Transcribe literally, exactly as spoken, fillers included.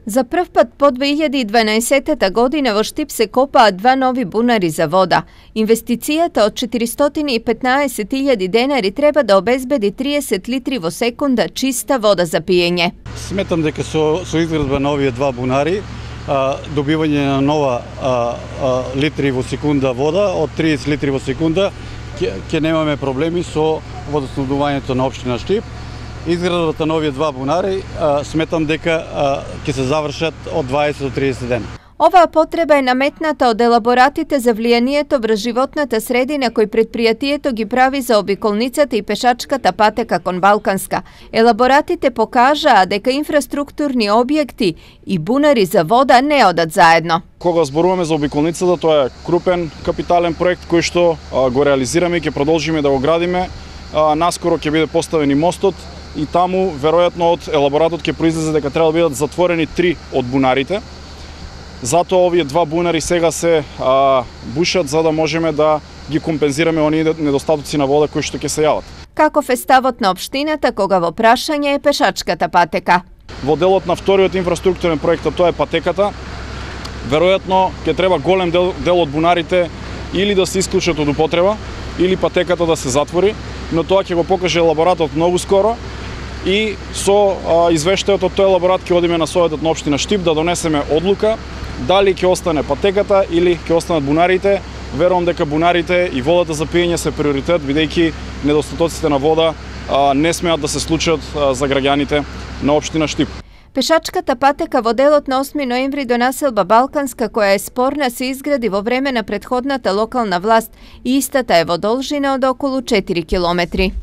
За прв пат по две илјади и дванаесеттата година во Штип се копаат два нови бунари за вода. Инвестицијата од четиристотини и петнаесет илјади денари треба да обезбеди триесет литри во секунда чиста вода за пиење. Сметам дека со, со изградба на овие два бунари, а, добивање на нова а, а, литри во секунда вода, од триесет литри во секунда, ќе немаме проблеми со водоснабдувањето на општина Штип. Изградбата на овие два бунари а, сметам дека ќе се завршат од дваесет до триесет дена. Оваа потреба е наметната од елаборатите за влијанието врз животната средина кои предпријатието ги прави за обиколницата и пешачката патека кон Балканска. Елаборатите покажаа дека инфраструктурни објекти и бунари за вода не одат заедно. Кога зборуваме за обиколницата, тоа е крупен капитален проект кој што а, го реализираме и ќе продолжиме да го градиме. А, наскоро ќе биде поставен и мостот и таму веројатно од елаборатот ќе произлезе дека треба да бидат затворени три од бунарите. Затоа овие два бунари сега се а, бушат за да можеме да ги компензираме оние недостатоци на вода кои што ќе се јават. Каков е ставот на општината кога во прашање е пешачката патека? Во делот на вториот инфраструктурен проект, тоа е патеката, веројатно ќе треба голем дел, дел од бунарите или да се исклучат од употреба, или патеката да се затвори, но тоа ќе го покаже елаборатот многу скоро. И со а, извештајот од тој елаборат ќе одиме на Советот на општина Штип да донесеме одлука дали ќе остане патеката или ќе останат бунарите. Верувам дека бунарите и водата за пиење се приоритет, бидејќи недостатоците на вода а, не смеат да се случат а, за граѓаните на општина Штип. Пешачката патека во делот на осми ноември до населба Балканска, која е спорна, се изгради во време на претходната локална власт и истата е во должина од околу четири километри.